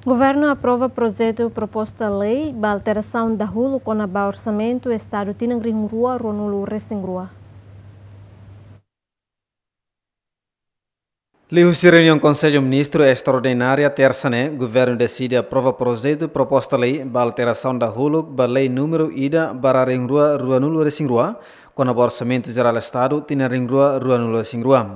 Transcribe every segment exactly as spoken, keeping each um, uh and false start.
Governu aprova projetu proposta lei ba alterasaun dahuluk kona-ba orsamentu Estadu tinan rihun rua ruanulu resin rua. Liuhusi reuniaun Konsellu Ministru estraordinária tersa ne'e, governu deside aprova projetu proposta lei ba alterasaun dahuluk ba lei númeru ida barra rihun rua ruanulu resin rua, kona-ba orsamentu jerál Estadu tinan rihun rua ruanulu resin rua.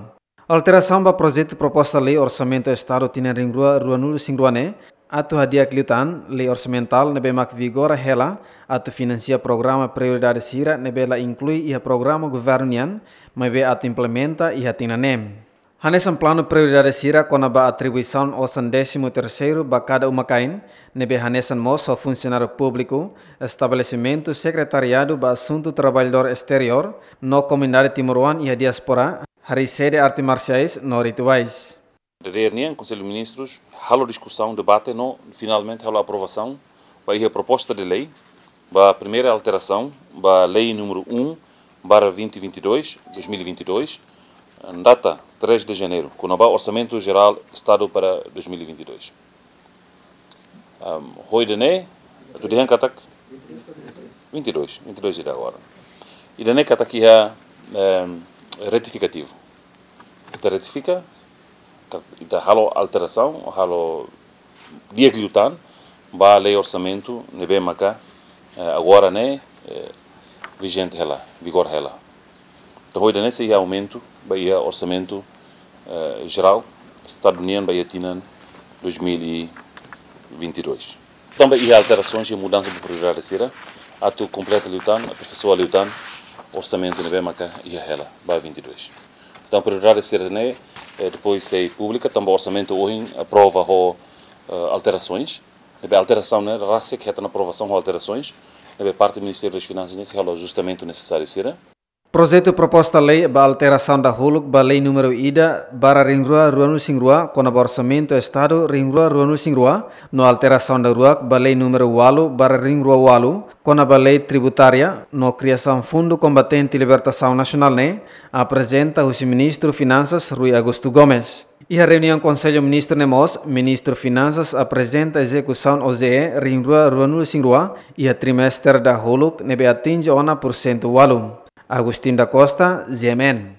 Alterasaun ba projetu proposta lei orsamentu Estadu tinan rihun rua ruanulu resin rua ne'e, atu hadi'a liután lei orsamentál ne'ebé mak vigora hela atu finansia programa prioridade sira ne'ebé la inklui iha programa governu nian, maibé atu implementa iha tinan ne'e. Hanesan planu prioridade sira kona-ba atribuisaun osan désimu terseiru ba kada uma-kain, ne'ebé hanesan mós ho funsionáriu públiku, estabelesimentu, sekretariadu ba asuntu traballadór esteriór, no komunidade timoroan iha diáspora, harii sede arte marsiais no rituais. Dadeer nian, Konsellu Ministrus halo diskusaun, debate no finalmente halo aprovasaun ba iha proposta de lei ba primeira alterasaun ba lei númeru um barra vinte e vinte e dois, dois mil e vinte e dois, data três de janeiro, kona-ba Orsamentu Jerál Estadu para dois mil e vinte e dois. Ahm, ho ida-ne'e, atu dehan katak vinte e dois, vinte e dois ida agora. Ida-ne'e katak iha, ehm, retifikativu. Ita retifika, ka-, ita halo alterasaun, halo di'ak liután ba lei orsamentu ne'ebé maka, eh, agora ne'e, eh, vijente hela, vigora hela. Entaun, ho ida-ne'e sei iha aumentu ba iha orsamentu, eh, jerál Estadu nian ba iha tinan dois mil e vinte e dois. Tanba iha alterasaun i mudansa ba prioridade sira, atu kompleta liután, aperfeiçoa liután orsamentu ne'ebé maka iha hela ba vinte e dois. Entaun, prioridade sira-ne'e, eh, depois sei publika, tanba orsamentu ohin aprova ho, eh, alterasaun. Ne'ebé alterasaun ne'e rasik hetan aprovasaun ho alterasaun. Ne'ebé parte Ministériu das Finansas ne'e sei halo ajustamentu nesesáriu sira. Projetu proposta lei ba alterasaun dahuluk ba lei númeru ida barra rihun rua ruanulu resin rua kona-ba orsamentu Estadu rihun rua ruanulu resin rua, no alterasaun daruak ba lei númeru ualu barra rihun rua ualu kona-ba lei tributária no kriasaun Fundu Kombatente Libertasaun Nasionál ne'e, aprezenta husi Ministru Finansas Rui Augusto Gomes. Iha reuniaun Konsellu Ministru ne'e mós, Ministru Finansas aprezenta ezekusaun O J E rihun rua ruanulu resin rua iha trimestre dahuluk ne'ebé atinje ona pursentu ualu. Agostinho da Costa, G M N.